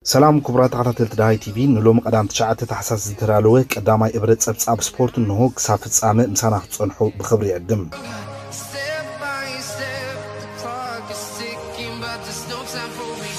ሰላም ክቡራት ተኸታተልቲ ዳሃይ ቲቪ፣ ንሎሚ ቀዳም ትሽዓተ ታሕሳስ ዝተዳለወ ቀዳማይ እብረ ጸብጻብ ስፖርት እንሆ። ክሳብ ፍጻመ ምሳና ክትጸንሑ ብኽብሪ ይዕድም። Step by step, the clock is ticking, but there's no time for me.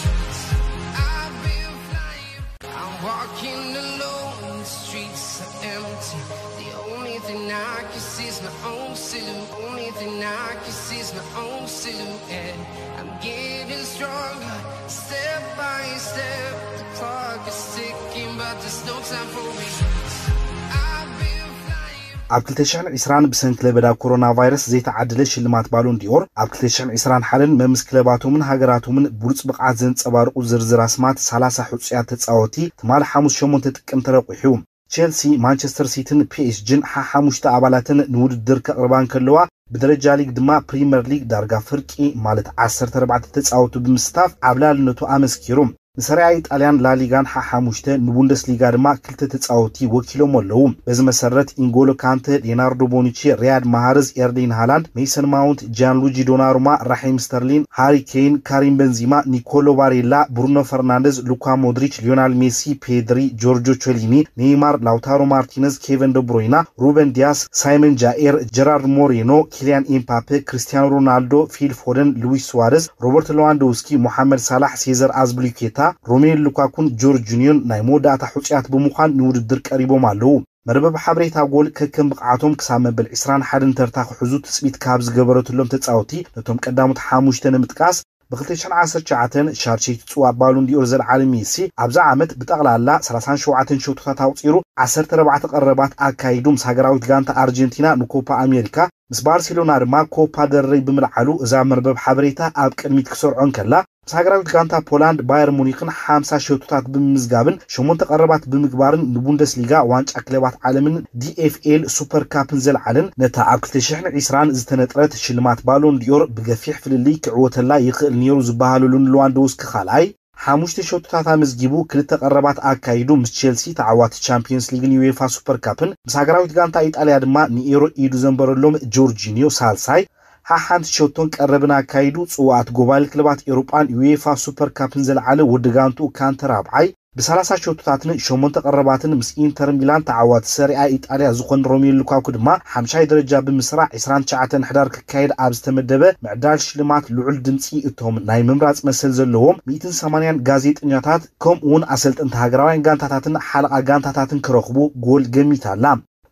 I've been flying, I'm walking alone, the streets are empty. The only thing I can see is my own silhouette. Only thing I can see is my own silhouette. I'm getting stronger, step by step. The clock is ticking, but there's no time for me. I've been flying. ኣብ ክልተ ሽሕን ዕስራን ብሰንኪ ለበዳ ኮሮና ቫይረስ ዘይተዓደለ ሽልማት ባሎን ዲኦር፣ ኣብ ክልተ ሽሕን ዕስራን ሓደን መምስ ክለባቶምን ሃገራቶምን ብሉጽ ብቕዓት ዘንጸባርቑ ዝርዝር ኣስማት ሰላሳ ሕጹያት ተጻወቲ ትማሊ ሓሙስ ሸሞንተ ጥቅምቲ ተረቂሑ። ቼልሲ፣ ማንቸስተር ሲቲን ፒኤስጂን ሓሓሙሽተ ኣባላተን ንውድድር ከቕርባ እንከለዋ፣ ብደረጃ ሊግ ድማ ፕሪምየር ሊግ ዳርጋ ፍርቂ ማለት ዓሰርተ ኣርባዕተ ተጻወቱ ብምስታፍ ዓብላልነቱ ኣመስኪሩ። ንሰሪያ ኢጣልያን ላሊጋን ሓሓሙሽተ፣ ንቡንደስሊጋ ድማ ክልተ ተጻወቲ ወኪሎም ኣለዉ። በዚ መሰረት ኢንጎሎ ካንተ፣ ሌናርዶ ቦኑቺ፣ ሪያድ ማሃርዝ፣ ኤርሊን ሃላንድ፣ ሜሰን ማውንት፣ ጂያንሉጂ ዶናሩማ፣ ራሒም ስተርሊን፣ ሃሪ ኬን፣ ካሪም በንዚማ፣ ኒኮሎ ባሬላ፣ ብሩኖ ፈርናንደዝ፣ ሉካ ሞድሪች፣ ሊዮናል ሜሲ፣ ፔድሪ፣ ጆርጆ ቾሊኒ፣ ኔይማር፣ ላውታሮ ማርቲነዝ፣ ኬቨን ደብሮይና፣ ሩበን ዲያስ፣ ሳይመን ጃኤር፣ ጀራርድ ሞሬኖ፣ ኪሊያን ኤምፓፔ፣ ክርስቲያኖ ሮናልዶ፣ ፊል ፎደን፣ ሉዊስ ሱዋረዝ፣ ሮበርት ሌዋንዶውስኪ፣ ሞሓመድ ሳላሕ፣ ሴዘር አዝፒሊኩዌታ፣ ሮሜሉ ሉካኩን ጆርጂኒዮን ናይ መወዳእታ ሕጹያት ብምዃን ንውድድር ቀሪቦም ኣለዉ። መርበብ ሓበሬታ ጎል ከከም ብቕዓቶም ክሳብ መበል ዕስራን ሓደን ተርታ ክሕዙ ትጽቢት ካብ ዝገበረትሎም ተጻወቲ፣ ነቶም ቀዳሞት ሓሙሽተ ንምጥቃስ፣ ብ ክልተ ሽሕን ዓሰርተ ትሽዓተን ሻርሸይቲ ጽዋእ ባሎን ዲኦር ዘልዓለ ሜሲ፣ ኣብዛ ዓመት ብጠቕላላ ሰላሳን ሸውዓተን ሸቶታት ኣቑጺሩ፣ ዓሰርተ ኣርባዕተ ቀረባት ኣካይዱ፣ ምስ ሃገራዊት ጋንታ ኣርጀንቲና ንኮፓ ኣሜሪካ፣ ምስ ባርሴሎና ድማ ኮፓ ደል ሬይ ብምልዓሉ፣ እዛ መርበብ ሓበሬታ ኣብ ቅድሚት ክሰርዖ እንከላ፣ ምስ ሃገራዊት ጋንታ ፖላንድ ባየር ሙኒክን ሓምሳ ሸቶታት ብምምዝጋብን ሸሞንተ ቀረባት ብምግባርን ንቡንደስሊጋ፣ ዋንጫ ክለባት ዓለምን ዲኤፍኤል ሱፐር ካፕን ዘልዓለን፣ ነታ ኣብ ክልተ ሽሕን ዕስራን ዝተነጥረት ሽልማት ባሎን ዲኦር ብገፊሕ ፍልልይ ክዕወተላ ይኽእል ነይሩ ዝበሃለሉ ንሌዋንዶውስኪ ካልኣይ፣ ሓሙሽተ ሸቶታት ኣመዝጊቡ፣ ክልተ ቀረባት ኣካይዱ፣ ምስ ቼልሲ ተዓዋቲ ቻምፒየንስ ሊግን ዩኤፋ ሱፐር ካፕን፣ ምስ ሃገራዊት ጋንታ ኢጣልያ ድማ ንኤሮ ኢዱ ዘንበረሎም ጆርጂኒዮ ሳልሳይ፣ ሓሓንቲ ሸቶን ቀረብን ኣካይዱ፣ ጽዋኣት ጎባሊ ክለባት ኤውሮጳን ዩኤፋ ሱፐር ካፕን ዘልዓለ ወዲ ጋንትኡ ካንተ ራብዓይ፣ ብሰላሳ ሸቶታትን ሸሞንተ ቀረባትን ምስ ኢንተር ሚላን ተዓዋቲ ሰሪኣ ኢጣልያ ዝኾነ ሮሜሉ ሉካኩ ድማ ሓምሻይ ደረጃ ብምስራዕ፣ ዕስራን ትሽዓተን ሕዳር ክካየድ ኣብ ዝተመደበ ምዕዳል ሽልማት ልዑል ድምጺ እቶም ናይ ምምራጽ መሰል ዘለዎም ሚእትን ሰማንያን ጋዜጠኛታት ከምኡ እውን ኣሰልጠንቲ ሃገራውያን ጋንታታትን ሓለቓ ጋንታታትን ክረኽቡ ጎል ገሚታ ኣላ።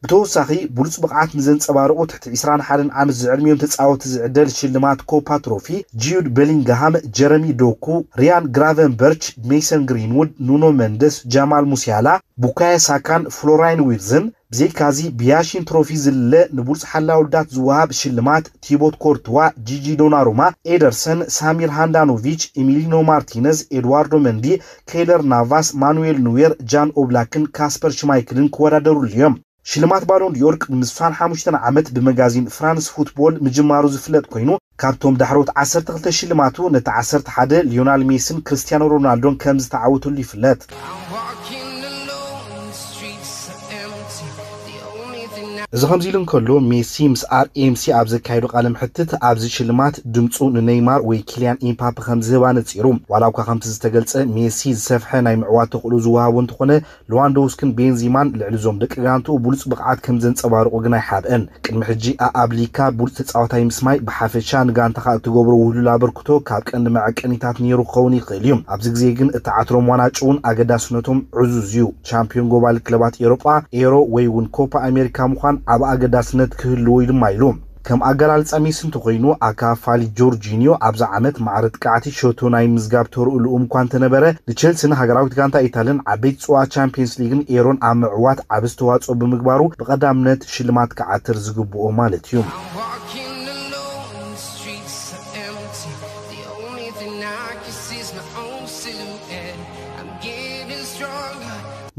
ብተወሳኺ፣ ብሉጽ ብቕዓት ንዘንጸባርቑ ትሕቲ ዕስራን ሓደን ዓመት ዝዕድሚኦም ተጻወቲ ዝዕደል ሽልማት ኮፓ ትሮፊ፣ ጁድ ቤሊንግሃም፣ ጀረሚ ዶኩ፣ ሪያን ግራቨንበርች፣ ሜሰን ግሪንውድ፣ ኑኖ መንደስ፣ ጃማል ሙሲያላ፣ ቡካዮ ሳካን ፍሎራይን ዊርዝን፣ ብዘይካዚ ብያሺን ትሮፊ ዝልለ ንብሉጽ ሓላዊ ውዳት ዝወሃብ ሽልማት ቲቦት ኮርትዋ፣ ጂጂ ዶናሩማ፣ ኤደርሰን፣ ሳሚር ሃንዳኖቪች፣ ኢሚሊኖ ማርቲነዝ፣ ኤድዋርዶ መንዲ፣ ኬይለር ናቫስ፣ ማኑኤል ኑዌር፣ ጃን ኦብላክን ካስፐር ሽማይክልን ክወዳደሩሉ እዮም። ሽልማት ባሎን ዲዮር ቅድሚ ስሳን ሓሙሽተን ዓመት ብመጋዚን ፍራንስ ፉትቦል ምጅማሩ ዝፍለጥ ኮይኑ፣ ካብቶም ዳሕሮት ዓሰርተ ክልተ ሽልማቱ ነቲ ዓሰርተ ሓደ ሊዮናል ሜስን ክርስቲያኖ ሮናልዶን ከም ዝተዓወተሉ ይፍለጥ። I'm walking alone, the streets are empty. The only thing I እዚ ከምዚ ኢሉ እንከሎ፣ ሜሲ ምስ ኣርኤምሲ ኣብ ዘካየዶ ቃለ መሕትት፣ ኣብዚ ሽልማት ድምጹ ንኔይማር ወይ ኪልያን ኢምፓፔ ከም ዝህብ ኣነጺሩ። ዋላ እኳ ከምቲ ዝተገልጸ ሜሲ ዝሰፍሐ ናይ ምዕዋት ተኽእሎ ዝወሃቦ እንተኾነ፣ ሌዋንዶውስኪን ቤንዚማን ልዕሊ እዞም ደቂ ጋንትኡ ብሉጽ ብቕዓት ከም ዘንጸባርቑ ግን ኣይሓብአን። ቅድሚ ሕጂ ኣኣብ ሊካ ብሉጽ ተጻዋታይ ምስማይ ብሓፈሻ ንጋንታኻ እትገብሮ ውህሉል ኣበርክቶ ካብ ቀንዲ መዐቀኒታት ነይሩ ክኸውን ይኽእል እዩ። ኣብዚ ግዜ ግን እተዓትሮም ዋንጫ እውን ኣገዳስነቶም ዕዙዝ እዩ። ቻምፒዮን ጎባሊ ክለባት ኤውሮጳ፣ ኤሮ ወይ እውን ኮፓ ኣሜሪካ ምዃን ዓቢ ኣገዳስነት ክህልዎ እዩ ድማ ኢሉ። ከም ኣገላልጻ ሜሲ እንተኾይኑ፣ ኣካፋሊ ጆርጂኒዮ ኣብዛ ዓመት ማዕረ ጥቃዕቲ ሸቶ ናይ ምዝጋብ ተርኡ ልኡም እኳ እንተነበረ፣ ንቼልሲን ሃገራዊት ጋንታ ኢታልን ዓበይቲ ጽዋኣ ቻምፒየንስ ሊግን ኤሮን ኣብ ምዕዋት ዓቢ ኣስተዋጽኦ ብምግባሩ ብቐዳምነት ሽልማት ክዓትር ዝግብኦ ማለት እዩ። I'm walking alone, the streets are empty. The only thing I can see is my own silhouette. I'm getting stronger.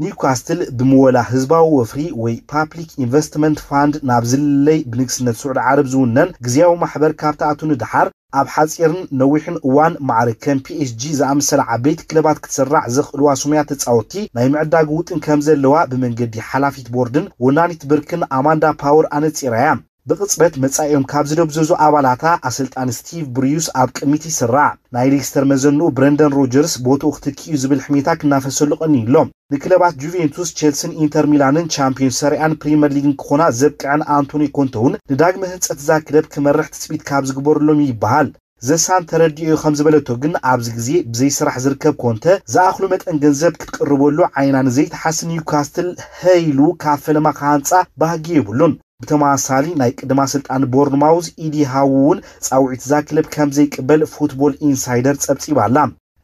ኒውካስትል ብምወላ ህዝባዊ ወፍሪ ወይ ፓብሊክ ኢንቨስትመንት ፋንድ ናብ ዝልለይ ብንግስነት ስዑዲ ዓረብ ዝውነን ግዝያዊ ማሕበር ካብ ተኣቱ ንድሓር፣ ኣብ ሓጺርን ነዊሕን እዋን ማዕረ ከም ፒኤስጂ ዝኣመሰላ ዓበይቲ ክለባት ክትስራዕ ዘኽእልዋ ስሙያት ተጻወትቲ ናይ ምዕዳግ ውጥን ከም ዘለዋ ብመንገዲ ሓላፊት ቦርድን ወናኒት ብርክን ኣማንዳ ፓወር ኣነጺራ'ያ። ብቕጽበት መጻኢኦም ካብ ዝደብዘዙ ኣባላታ ኣሰልጣኒ ስቲቭ ብሩስ ኣብ ቅድሚት ይስራዕ። ናይ ሌስተር መዘንኡ ብረንደን ሮጀርስ ቦትኡ ክትክእ እዩ ዝብል ሕሜታ ክናፈሰሉ ቀንዩ ኣሎ። ንክለባት ጁቬንቱስ፣ ቸልሲን ኢንተር ሚላንን ቻምፒዮንስ ሰሪኣን ፕሪምየር ሊግን ክኾና ዘብቅዐን ኣንቶኒ ኮንተ እውን ንዳግመ ህንጸት እዛ ክለብ ክመርሕ ትጽቢት ካብ ዝግበረሎም እዩ ይበሃል። ዘሳን ተረዲኦ እዩ ከም ዝበለቶ ግን ኣብዚ ግዜ ብዘይ ስራሕ ዝርከብ ኮንተ ዝኣኽሉ መጠን ገንዘብ ክትቅርበሉ ዓይና ንዘይትሓስብ ኒውካስትል ሀይሉ ካብ ፈለማ ክሃንጻ ባህጊ የብሉን። ብተመሳሳሊ ናይ ቅድማ ስልጣን ቦርንማውዝ ኢዲ ሃው እውን ጻውዒት እዛ ክለብ ከም ዘይቅበል ፉትቦል ኢንሳይደር ጸብጺባ ኣላ።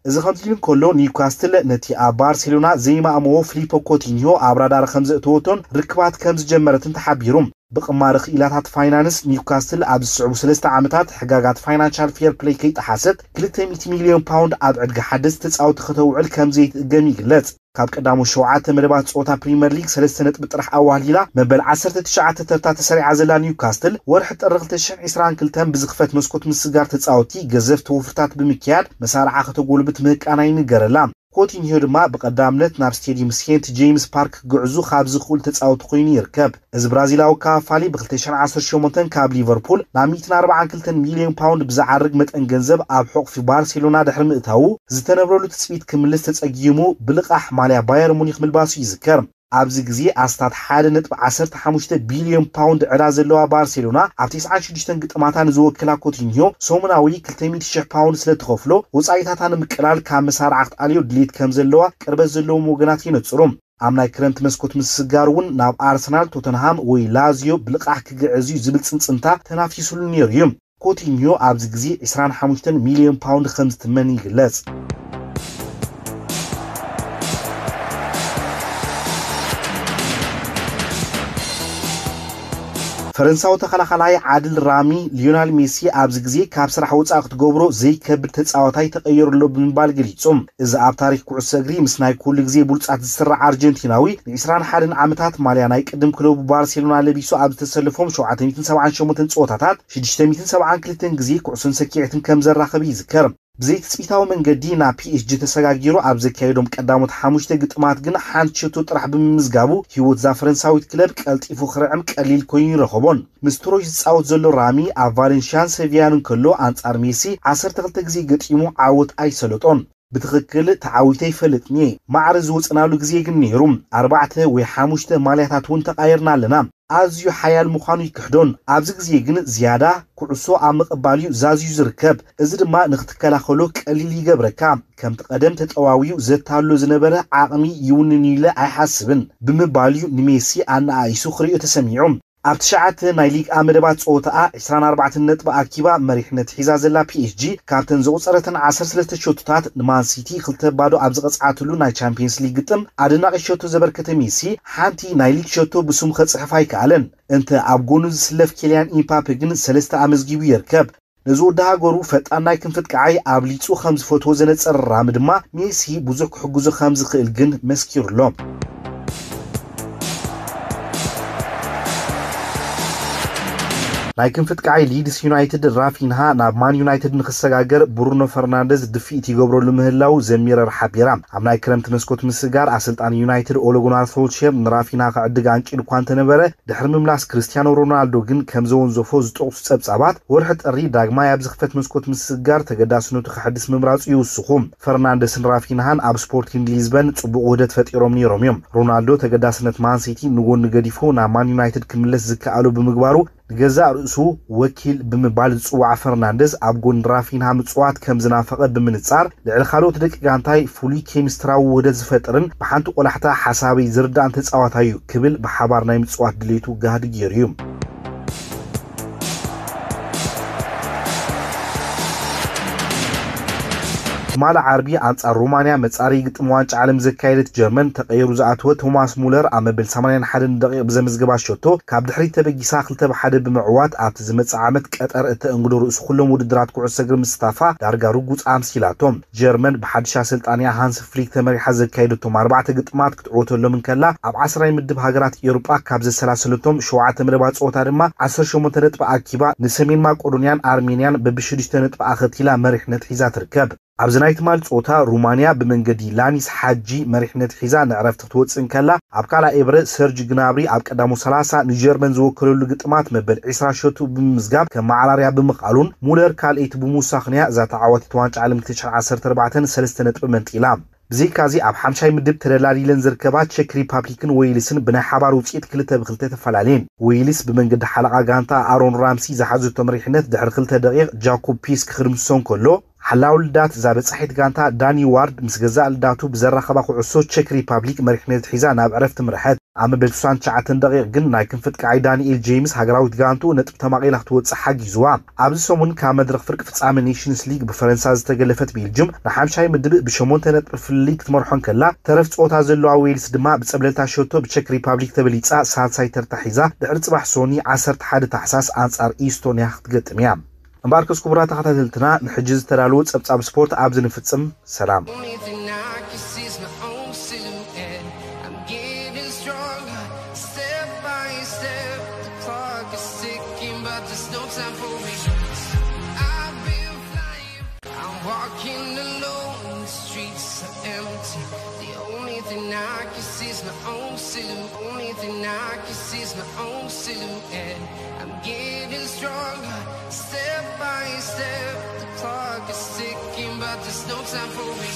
እዚ ከምዚ ኢሉ እንከሎ ኒውካስትል ነቲ ኣብ ባርሴሎና ዘይማእመዎ ፍሊፖ ኮቲንሆ ኣብ ራዳር ከም ዘእተወቶን ርክባት ከም ዝጀመረትን ተሓቢሩ። ብቕማሪ ክኢላታት ፋይናንስ ኒውካስትል ኣብ ዝስዕቡ ሰለስተ ዓመታት ሕጋጋት ፋይናንሻል ፌር ፕሌይ ከይጠሓሰት ክልተ ሚእቲ ሚልዮን ፓውንድ ኣብ ዕድጊ ሓደስቲ ተጻወቲ ከተውዕል ከም ዘይትእገም ይግለጽ። ካብ ቀዳሞት ሸውዓተ መደባት ጸወታ ፕሪምየር ሊግ ሰለስተ ነጥቢ ጥራሕ ኣዋህሊላ መበል ዓሰርተ ትሽዓተ ተርታ ተሰሪዓ ዘላ ኒውካስትል ወርሒ ጥሪ ክልተ ሽሕን ዕስራን ክልተን ብዝኽፈት መስኮት ምስጋር ተጻወቲ ገዘፍቲ ወፍርታት ብምክያድ መሳርዓ ከተጎልብት ምህቃና ይንገረላ። ኮቲንሆ ድማ ብቐዳምነት ናብ ስቴዲየም ሴንት ጄምስ ፓርክ ክግዕዙ ካብ ዝኽእሉ ተጻወቲ ኮይኑ ይርከብ። እዚ ብራዚላዊ ካፋሊ ብ ክልተ ሽሕን ዓሰርተ ሸሞንተን ካብ ሊቨርፑል ናብ ሚእትን ኣርባዓን ክልተን ሚልዮን ፓውንድ ብዝዓርግ መጠን ገንዘብ ኣብ ሕቑፊ ባርሴሎና ድሕሪ ምእታዉ ዝተነብረሉ ትጽቢት ክምልስ ተጸጊሙ ብልቓሕ ማልያ ባየር ሙኒክ ምልባሱ ይዝከር። ኣብዚ ግዜ ኣስታት ሓደ ነጥቢ ዓሰርተ ሓሙሽተ ቢልዮን ፓውንድ ዕዳ ዘለዋ ባርሴሎና ኣብ ተስዓን ሽዱሽተን ግጥማታ ንዝወክላ ኮቲንሆ ሰሙናዊ ክልተ ሚእቲ ሽሕ ፓውንድ ስለ ትኸፍሎ ወጻኢታታ ንምቅላል ካብ መሳርዓ ክትኣልዮ ድሌት ከም ዘለዋ ቅርበት ዘለዎም ወገናት የነጽሩ። ኣብ ናይ ክረምቲ መስኮት ምስጋር እውን ናብ ኣርሰናል፣ ቶተንሃም ወይ ላዚዮ ብልቓሕ ክግዕዝ እዩ ዝብል ጽንጽንታ ተናፊሱሉ ነይሩ እዩ። ኮቲንዮ ኣብዚ ግዜ ዕስራን ሓሙሽተን ሚልዮን ፓውንድ ከም ዝትመን ይግለጽ። ፈረንሳዊ ተኸላኻላይ ዓድል ራሚ፣ ሊዮናል ሜሲ ኣብዚ ግዜ ካብ ስራሕ ወጻኢ ክትገብሮ ዘይከብድ ተጻዋታይ ተቐይሩ ኣሎ ብምባል ገሊጹ። እዚ ኣብ ታሪኽ ኩዕሶ እግሪ ምስ ናይ ኩሉ ግዜ ብሉጻት ዝስራዕ ኣርጀንቲናዊ፣ ን ዕስራን ሓደን ዓመታት ማልያ ናይ ቅድም ክለቡ ባርሴሎና ለቢሱ ኣብ ዝተሰለፎም ሸውዓተ ሚእትን ሰብዓን ሸሞንተን ጸወታታት፣ ሽዱሽተ ሚእትን ሰብዓን ክልተን ግዜ ኩዕሶን ሰኪዔትን ከም ዘራኸበ ይዝከር። ብዘይትጽቢታዊ መንገዲ ናብ ፒ ኤስ ጂ ተሰጋጊሩ ኣብ ዘካየዶም ቀዳሞት ሓሙሽተ ግጥማት ግን ሓንቲ ሸቶ ጥራሕ ብምምዝጋቡ፣ ህይወት እዛ ፈረንሳዊት ክለብ ቀልጢፉ ክርዕም ቀሊል ኮይኑ ይረኸቦን። ምስ ትሮይ ዝጻወት ዘሎ ራሚ ኣብ ቫለንሽያን ሰቪያን እንከሎ፣ ኣንጻር ሜሲ ዓሰርተ ክልተ ግዜ ገጢሙ ዓወት ኣይሰለጦን። ብትኽክል ተዓዊተ ይፈልጥን እየ። ማዕረ ዝወጸናሉ ግዜ ግን ነይሩ። ኣርባዕተ ወይ ሓሙሽተ ማልያታት እውን ተቓይርና ኣለና። ኣዝዩ ሓያል ምዃኑ ይክሕዶን። ኣብዚ ግዜ ግን ዝያዳ ኩዕሶ ኣብ ምቕባል እዩ ዛዝዩ ዝርከብ። እዚ ድማ ንኽትከላኸሎ ቀሊል ይገብረካ። ከምቲ ቀደም ተጠዋውዩ ዘታሎ ዝነበረ ዓቕሚ ይውንን ኢለ ኣይሓስብን ብምባል እዩ ንሜሲ ኣነኣኢሱ ክርእዮ ተሰሚዑ። ኣብ ትሽዓተ ናይ ሊግ ኣ መደባት ጸወታኣ ዕስራን ኣርባዕተን ነጥቢ ኣኪባ መሪሕነት ሒዛ ዘላ ፒ ኤስ ጂ፣ ካብተን ዘቑጸረተን ዓሰርተ ሰለስተ ሸቶታት ንማን ሲቲ ክልተ ባዶ ኣብ ዝቐጽዓትሉ ናይ ቻምፒየንስ ሊግ ግጥም ኣደናቒ ሸቶ ዘበርከተ ሜሲ፣ ሓንቲ ናይ ሊግ ሸቶ ብስሙ ከጽሕፍ ኣይከኣለን። እንተ ኣብ ጎኑ ዝስለፍ ኬልያን ኢምፓፔ ግን ሰለስተ ኣመዝጊቡ ይርከብ። ነዚ ወዲ ሃገሩ ፈጣን ናይ ክንፊ ኣጥቃዓይ ኣብሊጹ ከም ዝፈትዎ ዘነጸረ ራሚ ድማ፣ ሜሲ ብዙሕ ክሕግዞ ከም ዝኽእል ግን መስኪሩሎ። ናይ ክንፊ ኣጥቃዓይ ሊድስ ዩናይትድ ራፊንሃ ናብ ማን ዩናይትድ ንኽሰጋገር ብሩኖ ፈርናንደዝ ድፍኢት ይገብረሉ ምህላዉ ዘሚረር ሓቢራ። ኣብ ናይ ክረምቲ መስኮት ምስጋር ኣሰልጣኒ ዩናይትድ ኦለ ጉናር ሶልሼር ንራፊንሃ ክዕድግ ኣንቂዱ እኳ እንተነበረ፣ ድሕሪ ምምላስ ክርስቲያኖ ሮናልዶ ግን ከም ዘወንዘፎ ዝጠቕሱ ጸብጻባት፣ ወርሒ ጥሪ ዳግማይ ኣብ ዝኽፈት መስኮት ምስጋር ተገዳስነቱ ከሐድስ ምምራጹ ይውስኹ። ፈርናንደስን ራፊንሃን ኣብ ስፖርቲንግ ሊዝበን ጽቡቕ ውህደት ፈጢሮም ነይሮም እዮም። ሮናልዶ ተገዳስነት ማን ሲቲ ንጎኒ ገዲፉ ናብ ማን ዩናይትድ ክምለስ ዝከኣሎ ብምግባሩ፣ ንገዛእ ርእሱ ወኪል ብምባል ዝጽዋዕ ፈርናንደስ፣ ኣብ ጎኒ ራፊንሃ ምጽዋት ከም ዝናፈቐ ብምንጻር፣ ልዕሊ ካልኦት ደቂ ጋንታይ ፍሉይ ኬሚስትራዊ ውህደት ዝፈጥርን ብሓንቲ ቆላሕታ ሓሳበይ ዝርዳእን ተጻዋታይ እዩ ክብል ብሓባር ናይ ምጽዋት ድሌቱ ጋህዲ ገይሩ እዩ። ትማሊ ዓርቢ ኣንጻር ሮማንያ መጻረዪ ግጥም ዋንጫ ዓለም ዘካየደት ጀርመን፣ ተቐይሩ ዝኣተወ ቶማስ ሙለር ኣብ መበል ሰማንያን ሓደን ደቂቕ ብዘመዝገባ ሸቶ ካብ ድሕሪት ተበጊሳ ክልተ ብ ሓደ ብምዕዋት፣ ኣብቲ ዝመጽእ ዓመት ቀጠር እተእንግዶ ርእሲ ኩሎም ውድድራት ኩዕሶ እግሪ ምስታፋ ዳርጋ ርጉጽ ኣምሲላቶ። ጀርመን ብሓድሽ ኣሰልጣኒኣ ሃንስ ፍሊክ ተመሪሓ ዘካየደቶም ኣርባዕተ ግጥማት ክትዕወተሎም እንከላ፣ ኣብ ዓስራይ ምድብ ሃገራት ኤውሮጳ ካብ ዘሰላሰለቶም ሸውዓተ መደባት ጸወታ ድማ ዓሰርተ ሸሞንተ ነጥቢ ኣኪባ፣ ንሰሜን ማቄዶንያን ኣርሜንያን በብሽዱሽተ ነጥቢ ኣኸቲላ መሪሕነት ሒዛ ትርከብ። ኣብዚ ናይ ትማል ጾታ ሩማንያ ብመንገዲ ላኒስ ሓጂ መሪሕነት ሒዛ ንዕረፍቲ ክትወጽእ እንከላ፣ ኣብ ካልኣይ ኤብረ ሰርጅ ግናብሪ ኣብ ቀዳሙ ሰላሳ ንጀርመን ዝወከለሉ ግጥማት መበል ዕስራ ሸቱ ብምምዝጋብ ከም ማዓራርያ ብምኽኣሉን ሙለር ካልኣይቲ ብምውሳኽንያ እዛ ተዓዋቲት ዋንጫ ዓለም ክልተ ሽሕን ዓሰርተ ኣርባዕተን ሰለስተ ነጥቢ መንጢላ። ብዘይካዚ ኣብ ሓምሻይ ምድብ ተደላዲለን ዝርከባ ቸክ ሪፓብሊክን ዌይልስን ብናይ ሓባር ውፅኢት ክልተ ብክልተ ተፈላለየን። ዌይልስ ብመንገዲ ሓለቓ ጋንታ ኣሮን ራምሲ ዝሓዘቶ መሪሕነት ድሕሪ ክልተ ደቂቕ ጃኮብ ፒስ ክኽድምስሶ እንከሎ፣ ሓላው ልዳት እዛ በጻሒት ጋንታ ዳኒ ዋርድ ምስ ገዛእ ልዳቱ ብዘራኸባ ኩዕሶ ቸክ ሪፓብሊክ መሪሕነት ሒዛ ናብ ዕረፍቲ ምርሐት። ኣብ መበል ስሳን ትሽዓተን ደቂቕ ግን ናይ ክንፊ ኣጥቃዓይ ዳንኤል ጄምስ ሃገራዊት ጋንትኡ ነጥቢ ተማቒላ ክትወጽእ ሓጊዝዋ። ኣብዚ ሰሙን ካብ መድረኽ ፍርቂ ፍጻመ ኔሽንስ ሊግ ብፈረንሳ ዝተገለፈት ቤልጅም ንሓምሻይ ምድብ ብሸሞንተ ነጥቢ ፍልልይ ክትመርሖ እንከላ፣ ተረፍ ጸወታ ዘለዋ ዌልስ ድማ ብጸብለልታ ሸቶ ብቸክ ሪፓብሊክ ተበሊጻ ሳልሳይ ተርታ ሒዛ ድሕሪ ጽባሕ ሶኒ ዓሰርተ ሓደ ታሕሳስ ኣንጻር ኢስቶንያ ክትገጥም እያ። እምበኣርከስ ክቡራት ተኸታተልትና ንሕጂ ዝተዳለወ ጸብጻብ ስፖርት ኣብዚ ንፍጽም። ሰላም። Only thing I can see is my own silhouette. I'm getting stronger, step by step. The clock is ticking, but there's no time for me. I've been flying, I'm walking alone, the streets are empty. The only thing I can see is my own silhouette. Only thing I can see is my own silhouette. I'm getting stronger, step by step. The clock is ticking, but there's no time for me.